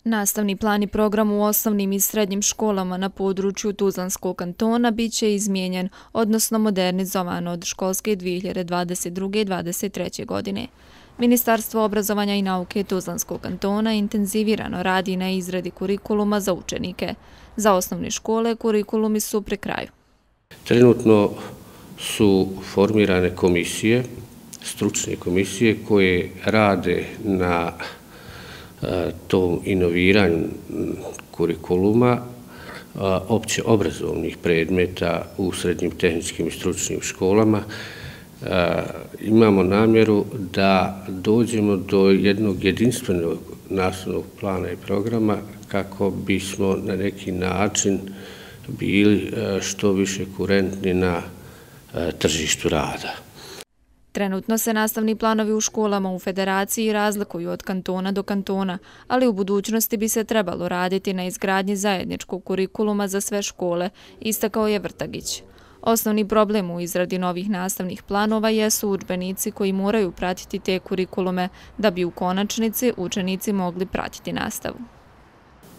Nastavni plan i program u osnovnim i srednjim školama na području Tuzlanskog kantona biće izmijenjen, odnosno modernizovan od školske 2022-2023. godine. Ministarstvo obrazovanja i nauke Tuzlanskog kantona intenzivirano radi na izradi kurikuluma za učenike. Za osnovne škole kurikulumi su pri kraju. Trenutno su formirane komisije, stručne komisije koje rade na tom inoviranju kurikuluma opće obrazovnih predmeta u srednjim tehničkim i stručnim školama. Imamo namjeru da dođemo do jednog jedinstvenog nastavnog plana i programa kako bismo na neki način bili što više kurentni na tržištu rada. Trenutno se nastavni planovi u školama u federaciji razlikuju od kantona do kantona, ali u budućnosti bi se trebalo raditi na izgradnji zajedničkog kurikuluma za sve škole, istakao je Vrtagić. Osnovni problem u izradi novih nastavnih planova jesu udžbenici koji moraju pratiti te kurikulume da bi u konačnici učenici mogli pratiti nastavu.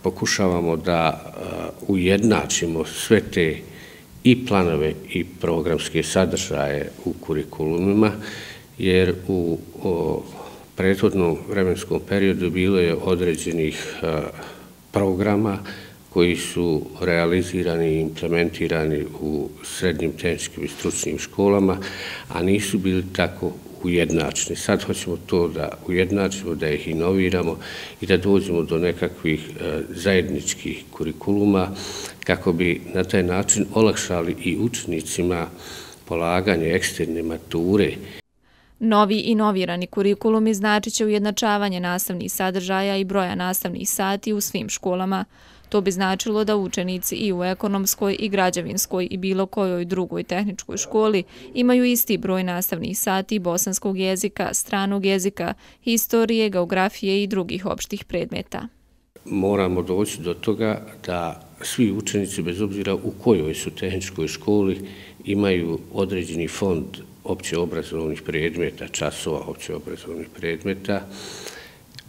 Pokušavamo da ujednačimo sve te i planove i programske sadržaje u kurikulumima, jer u prethodnom vremenskom periodu bilo je određenih programa koji su realizirani i implementirani u srednjim tehničkim i stručnim školama, a nisu bili tako ujednačeni. Sad hoćemo to da ujednačimo, da ih inoviramo i da dođemo do nekakvih zajedničkih kurikuluma kako bi na taj način olakšali i učenicima polaganje eksterne mature. Novi inovirani kurikulumi značit će ujednačavanje nastavnih sadržaja i broja nastavnih sati u svim školama. To bi značilo da učenici i u ekonomskoj i građevinskoj i bilo kojoj drugoj tehničkoj školi imaju isti broj nastavnih sati bosanskog jezika, stranog jezika, historije, geografije i drugih opštih predmeta. Moramo doći do toga da svi učenici, bez obzira u kojoj su tehničkoj školi, imaju određeni fond općeobrazovnih predmeta, časova općeobrazovnih predmeta,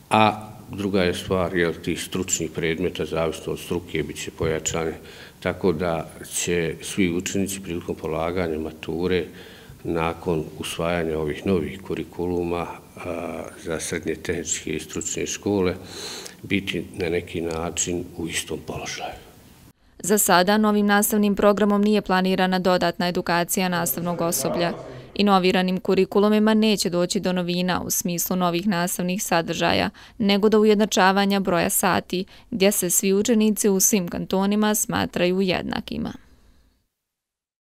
a druga je stvar, tih stručnih predmeta, zavisno od struke, bit će pojačane, tako da će svi učenici prilikom polaganja mature nakon usvajanja ovih novih kurikuluma za srednje tehničke i stručne škole biti na neki način u istom položaju. Za sada novim nastavnim programom nije planirana dodatna edukacija nastavnog osoblja. Inoviranim kurikulumima neće doći do novina u smislu novih nastavnih sadržaja, nego do ujednačavanja broja sati, gdje se svi učenici u svim kantonima smatraju jednakima.